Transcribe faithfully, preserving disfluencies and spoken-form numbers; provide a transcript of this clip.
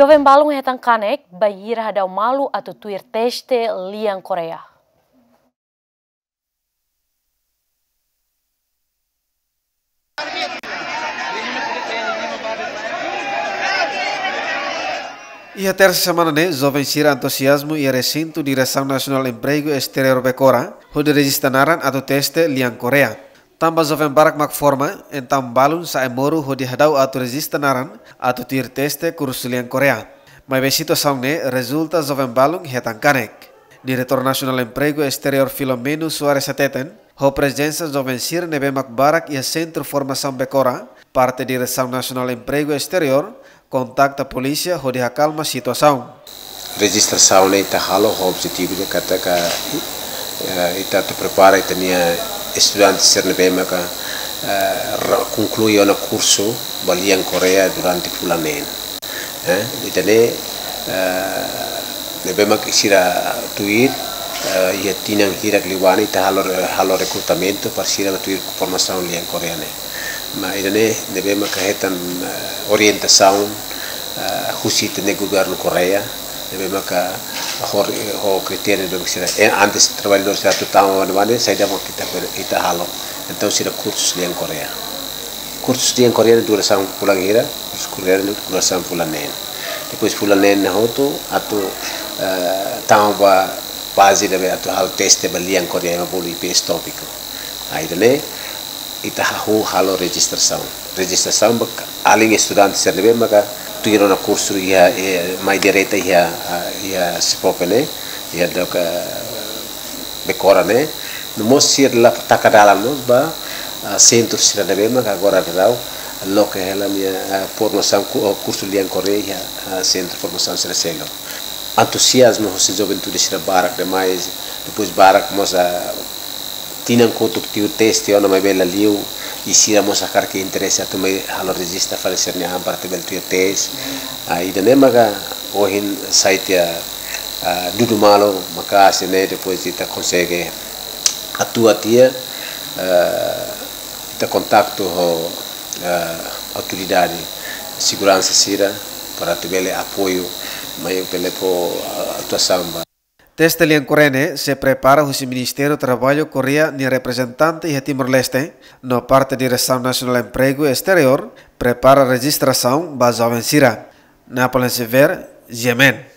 Joven balun hetan kanek bainhira hadau malu atu tuir teste lian Koreia. Iha tersa semana ne'e, joven sira entuziazmu iha resintu Diresaun Nasionál Empregu Esteriór Becora, hodi rejista naran atu teste lian Koreia. Tanba joven barak mak forma, entaun balun sa'e moru hodi hadau atu rejista naran atu tuir teste kursu lian Koreia. Maibé situasaun ne'e rezulta joven balun hetan kanek. Diretór Nasionál Empregu Esteriór Filomeno Soares hateten, ho prezensa joven sira ne'ebé mak barak iha Sentru Formasaun Becora, parte Diresaun Nasionál Empregu Esteriór kontakta polísia hodi hakalma situasaun. Rejistrasaun ne'e ita halo ho objetivu de katak, eh, ita atu prepara ita-nia estudante sira ne'ebé maka, eh, ra-, konklui ona kursu ba lian Koreia durante fulan neen. Eh, ita-nia, eh, ne'ebé mak sira tuir, eh, iha tinan hirak liubá ne'e ita halo re-, halo rekrutamentu para sira tuir formasaun lian Koreia ne'e. Maibé ita-nia ne'ebé maka hetan, eh, orientasaun, eh, husi ita-nia governu Koreia, ne'ebé maka ho, ho kritériu ne'ebé sira, eh, antes traballadór sira atu tama ba ne'ebá ne'e, saida mak ita, ita halo. Entaun sira kursu lian Koreia. Kursu lian Koreia ne'e durasaun fulan hira, kursu Koreia ne'e durasaun fulan neen. Depois fulan neen ne'e hotu, atu, eh, tama ba faze ne'ebé atu halo teste ba lian Koreia, ema bolu I P S tópiku. Ida-ne'e, ita hahú halo rejistrasaun. Rejistrasaun ba alin estudante sira ne'ebé maka tuir ona kursu iha, eh, mai direta iha, ah, iha SEPOPE ne'e, iha doka Becora ne'e. No mós sira la taka dalan mós ba, ah, sentru sira ne'ebé maka agora daudaun loke hela nia, ah, formasaun ku-, oh, kursu lian Koreia iha, ah, sentru formasaun sira seluk. Entuziazmu husi juventude sira barak demais, depois barak mós, ah, tinan kotuk tuir teste ona maibé la liu, i sira mós hakarak interese atu mai halo rejista fali sira-nia an para atu bele tuir teste. Ah, ida-ne'e maka ohin sai tiha, ah, dudu malu maka'as ne'e depois ita konsege atua tiha, ah, ita kontaktu ho, ah, autoridade seguransa sira para atu bele apoiu, mai bele fó, ah, atuasaun ba. Teste lian Koreia ne'e sei prepara husi Ministériu Traballu Koreia nia reprezentante iha Timor-Leste, no parte Diresaun Nasionál Empregu Esteriór prepara rejistrasaun ba joven sira. Napoleon Xavier, G M N.